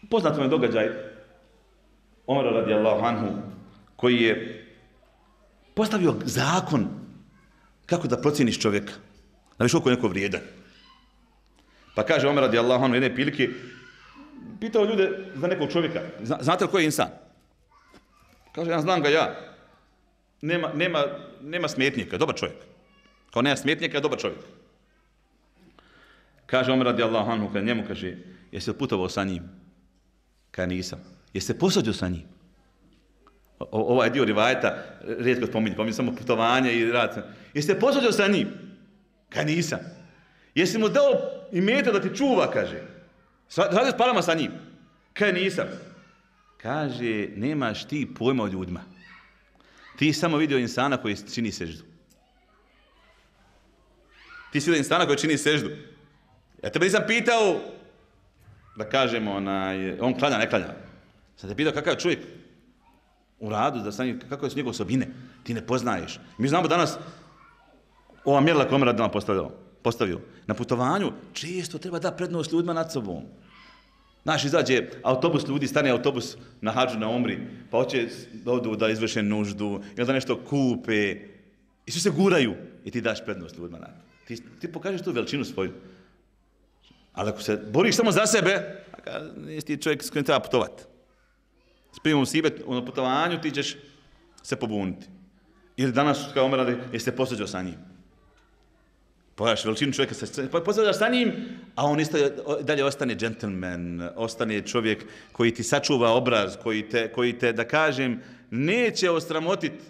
Poznat je događaj Omara radijallahu anhu, koji je postavio zakon kako da procijeniš čovjeka, da viš koliko je neko vrijedan. Pa kaže Omer radijallahu anhu jedne prilike, pitao ljude za nekog čovjeka, znate li koji je insan? Kaže, ja znam ga ja. Nema smetnjaka, dobar čovjek. Kao nema smetnjaka, dobar čovjek. Kaže Omer radijallahu anhu, kad njemu kaže, jesi li putovao sa njim? Kaže, nisam. Jesi se posađao sa njim? Ovaj dio rivajeta rijetko spominje samo putovanje i rad. Jesi se posađao sa njim? Kaže, nisam. Jesi mu dao imeta da ti čuva, kaže. Radi s parama sa njim? Kaže, nisam. Kaže, nemaš ti pojma o ljudima. Ti samo vidio insana koji čini seždu. Ti si vidio insana koji čini seždu. Ja tebe nisam pitao, da kažemo, on klanja, ne klanja. Sam te pitao kakav je čovjek u radu, kako su njegove osobine. Ti ne poznaješ. Mi znamo danas, ova mjerila koja Omer postavio, na putovanju često treba da prednost ljudima nad sobom. Znaš, izađe autobus ljudi, stane autobus na hadžu na Omri, pa hoće da odu da izvrše nuždu, ili da nešto kupe, i svi se guraju i ti daš prednost ljudima nad. Ti pokažeš tu veličinu svoju. Ali ako se boriš samo za sebe, nisi ti čovjek s kojim treba putovati. S primom sibet na putovanju ti ćeš se pobuniti. Ili danas kao Omer radi, jesi se posađao sa njim. Pogledaš veličinu čovjeka, posađaš sa njim, a on dalje ostane džentlmen, ostane čovjek koji ti sačuva obraz, koji te, da kažem, neće osramotiti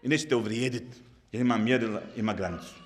i neće te uvrijediti, jer ima mjerila, ima granicu.